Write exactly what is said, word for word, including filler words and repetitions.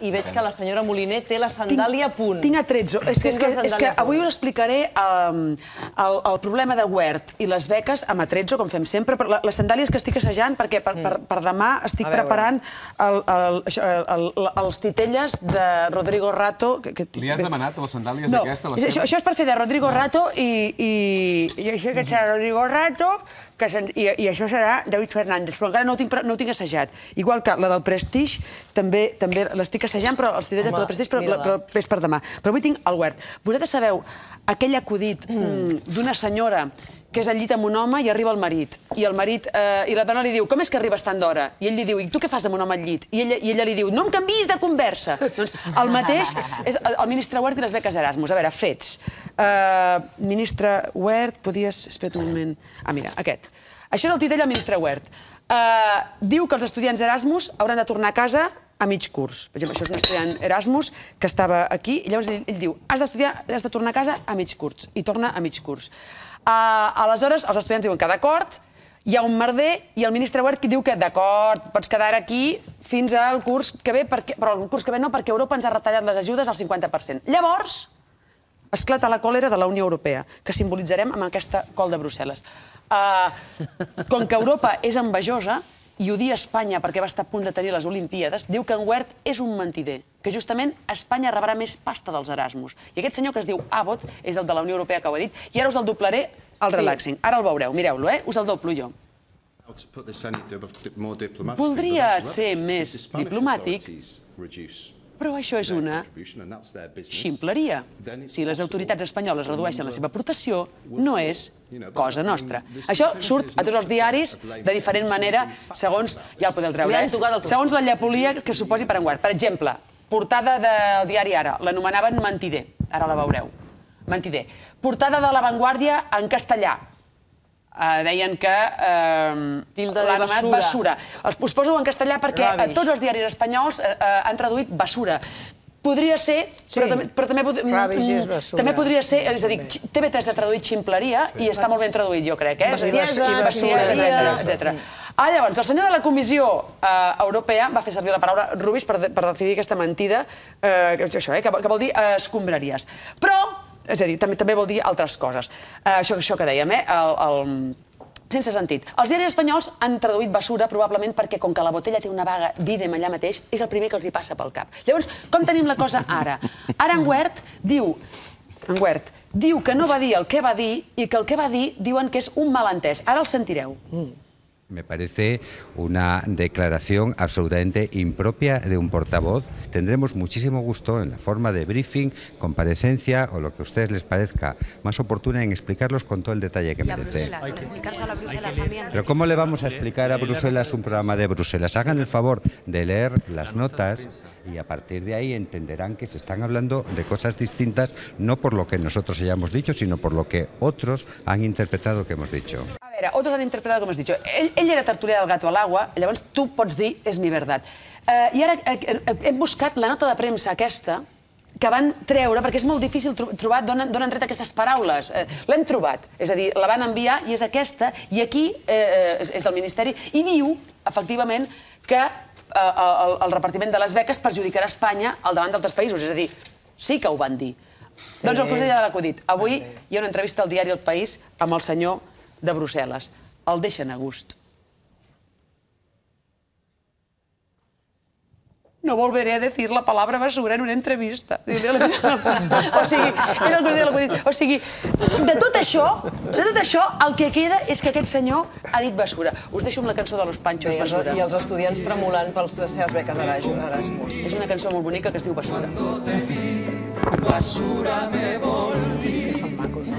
I veig que la senyora Moliner té la sandàlia a punt. Tinc atrezzo. És que avui us explicaré el problema de Wert i les beques amb atrezzo, com fem sempre. Les sandàlies que estic assajant, perquè per demà estic preparant els titelles de Rodrigo Rato. Li has demanat les sandàlies aquestes? No, això és per fer de Rodrigo Rato i això que serà Rodrigo Rato i això serà David Fernández, però encara no ho tinc assajat. Igual que la del Prestige, també l'estic assajant, però els titelles del Prestige és per demà. Però avui tinc el Wert. Vosaltres sabeu aquell acudit d'una senyora que és al llit amb un home i arriba el marit. I el marit, i la dona li diu, com és que arribes tant d'hora? I ell li diu, i tu què fas amb un home al llit? I ella li diu, no em canviïs de conversa. Doncs el mateix és el ministre Wert i les beques Erasmus. A veure, fets. Ministre Wert, podies... Espera't un moment. Ah, mira, aquest. Això és el titell del ministre Wert. Diu que els estudiants Erasmus hauran de tornar a casa a mig curs. Per exemple, això és un estudiant Erasmus que estava aquí i llavors ell diu, has d'estudiar, has de tornar a casa a mig curs. I torna a mig curs. Aleshores, els estudiants diuen que d'acord, hi ha un merder i el ministre Wert diu que d'acord, pots quedar aquí fins al curs que ve, però el curs que ve no, perquè Europa ens ha retallat les ajudes al cinquanta per cent. Llavors, esclata la còlera de la Unió Europea, que simbolitzarem amb aquesta col de Brussel·les. Com que Europa és envejosa, i odia Espanya perquè va estar a punt de tenir les Olimpíades, diu que en Wert és un mentider, que justament Espanya rebrà més pasta dels Erasmus. I aquest senyor que es diu Abbott és el de la Unió Europea que ho ha dit, i ara us el doblaré al relaxing. Ara el veureu, mireu-lo, eh? Us el doblo jo. Voldria ser més diplomàtic, però això és una ximpleria. Si les autoritats espanyoles redueixen la seva aportació, no és cosa nostra. Això surt a tots els diaris de diferent manera, segons, ja el podeu treure, segons la llepolia que suposi per en Wert. Per exemple, portada del diari Ara, l'anomenaven mentider, ara la veureu, mentider. Portada de La Vanguardia en castellà, deien que l'anomenat basura. Us poso en castellà perquè tots els diaris espanyols han traduït basura. Podria ser, però també podria ser, és a dir, T V tres ha traduït ximpleria i està molt ben traduït, jo crec, eh? Bestiesa, etcètera. Ah, llavors, el senyor de la Comissió Europea va fer servir la paraula rubis per definir aquesta mentida, que vol dir escombraries. Però, és a dir, també vol dir altres coses. Això que dèiem, eh? Sense sentit. Els diaris espanyols han traduït basura probablement perquè, com que la botella té una vaga d'ídem allà mateix, és el primer que els hi passa pel cap. Llavors, com tenim la cosa ara? Ara en Wert diu en Wert diu que no va dir el que va dir i que el que va dir diuen que és un malentès. Ara el sentireu. Me parece una declaración absolutamente impropia de un portavoz. Tendremos muchísimo gusto en la forma de briefing, comparecencia o lo que a ustedes les parezca más oportuna en explicarlos con todo el detalle que merece. Pero ¿cómo le vamos a explicar a Bruselas un programa de Bruselas? Hagan el favor de leer las notas y a partir de ahí entenderán que se están hablando de cosas distintas, no por lo que nosotros hayamos dicho, sino por lo que otros han interpretado que hemos dicho. A veure, otros han interpretado com has dit. Ell, ell era tertulià del Gato al agua, llavors tu pots dir és mi verdad. Uh, I ara hem buscat la nota de premsa aquesta que van treure, perquè és molt difícil trobar d'on han tret aquestes paraules. Uh, L'hem trobat, és a dir, la van enviar i és aquesta, i aquí uh, és del Ministeri, i diu, efectivament, que uh, el, el repartiment de les beques perjudicarà Espanya al davant d'altres països, és a dir, sí que ho van dir. Sí. Doncs el conseller de l'acudit. Avui hi ha una entrevista al diari El País amb el senyor de Brussel·les. El deixen a gust. No volveré a decir la palabra basura en una entrevista. O sigui, és el conseller de l'acudit. O sigui, de tot això, de tot això, el que queda és que aquest senyor ha dit basura. Us deixo amb la cançó de Los Panchos, Basura. I els estudiants tremolant per les seves beques Erasmus. És una cançó molt bonica que es diu Basura. Basura me volví. Que són macos, eh?